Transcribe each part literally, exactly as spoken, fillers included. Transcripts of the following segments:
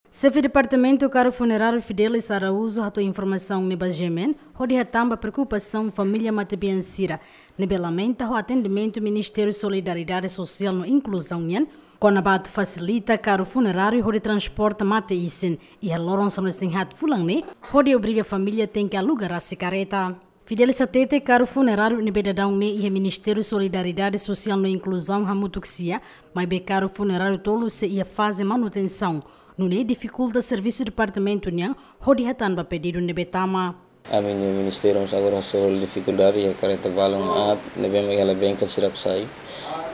Xefe Departamentu Karru Funeráriu Fidelis Araújo hato'o informasaun ne'e ba GMN, hodi hatán ba preokupasaun família matebian sira ne'ebé lamenta ho atendimentu Ministériu Solidariedade Sosiál no Inkluzaun nian, kona-ba atu fasilita karru funeráriu hodi transporta mate-isin iha loron sanulu-resin-haat fulan ne'e, hodi obriga família tenke aluga rasik karreta. Fidelis hatete karru funeráriu ne'ebé daudaun ne'e iha Ministériu Solidariedade Sosiál no Inkluzaun hamutuk sira, maibé karru funeráriu tolu sei iha faze manutensaun, nune'e difikulta servisu departamentu nian hodi hatán ba pedidu ne'ebé tama. Ami-nia ministériu mós agora sei halo difikuldade iha karreta balun aat ne'ebé mak iha la bengkel sira atu sai.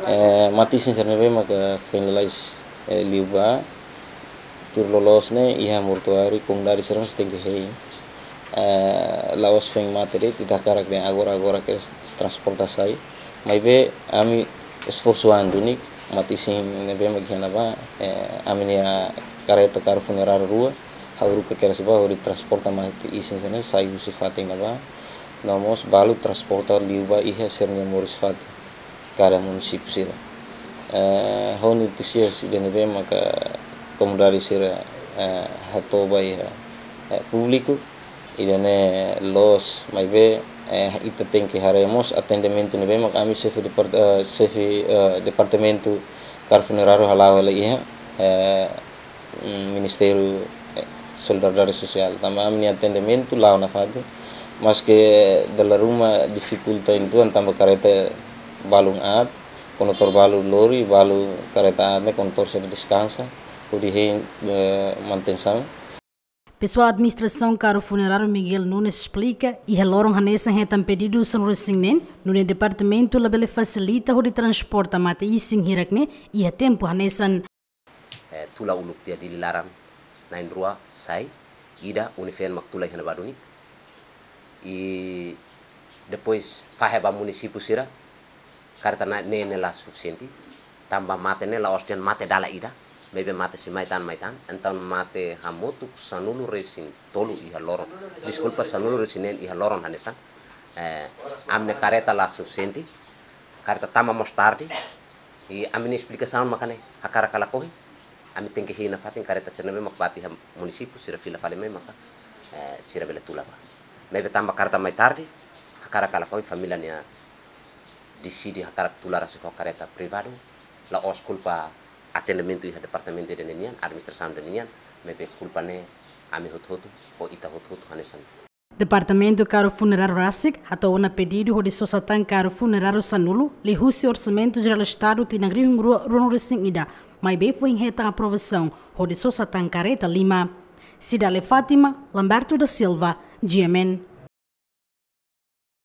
Eh, mate-isin sira ne'ebé maka finalize, eh, liu ba, tuir loloos ne'e iha mortuáriu, komunidade sira mós tenke hein. Eh, la'ós foin mate de'it, ita hakarak dehan agora-agora kedas transporta sai. Maibé ami esforsu an duni, mate-isin ne'ebé mak iha ne'ebá, eh, ami-nia karreta karru funeráriu rua, ha'u haruka kedas ba hodi transporta mate-isin sira-ne'e sai husi fatin ne'ebá. No mós balu transporta liu ba iha sira-nia moris fatin kada munisípiu sira. Eh, ho notísias ida ne'ebé maka komunidade sira, eh, hato'o ba iha, eh, públiku, ida-ne'e loos, maibé, eh, ita tenke haree mós atendimentu ne'ebé maka ami xefe depart-, eh, xefe, eh, departamentu karru funeráriu hala'o hela iha, eh, mm, Ministériu, eh, Solidariedade Sosiál. Tanba ami-nia atendimentu la'o nafatin. Maske dala ruma difikulta uitoan tanba karreta balun aat, kondutór balu lori, balu karreta aat ne'e kondutór sira deskansa, hodi hein, eh, manutensaun. Pesoál administrasaun karru funeráriu Miguel Nunes esplika, iha loron hanesan hetan pedidu sanulu-resin-neen, nune'e departamentu labele fasilita hodi transporta mate-isin hirak ne'e iha tempu hanesan. Eh, tula uluk tiha Dili laran, na'in-rua sai, ida uni-feen mak tula iha ne'ebá duni. I depois fahe ba munisípiu sira, karreta ne'e, ne'e la sufisiente. Tanba mate ne'e la'ós dehan mate dala ida, maibé mate sei mai tan, mai tan. Entaun mate hamutuk sanulu-resin-tolu iha loron. Deskulpa, sanulu-resin-neen iha loron hanesan. Eh, ami-nia karreta la sufisiente. Karreta tama mós tarde. I ami-nia esplikasaun maka ne'e, hakarak ka lakohi, ami tenke hein nafatin karreta sira ne'ebé mak bá tiha munisípiu, sira fila fali mai maka, eh, sira bele tula ba. Maibé tanba karreta mai tarde, hakarak ka lakohi família nian deside hakarak tula rasik ho karreta privadu, la'ós kulpa atendimentu iha departamentu ida-ne'e nian, administrasaun ida-ne'e nian, maibé kulpa ne'e ami hotu-hotu, ho ita hotu-hotu hanesan. Departamentu karru funeráriu rasik hato'o ona pedidu hodi sosa tan karru funeráriu sanulu liuhusi Orsamentu Jerál Estadu tinan rihun rua ruanulu-resin-ida, maibé foin hetan aprovasaun hodi sosa tan karreta lima. Cidalia Fátima, Lamberto da Silva, GMN.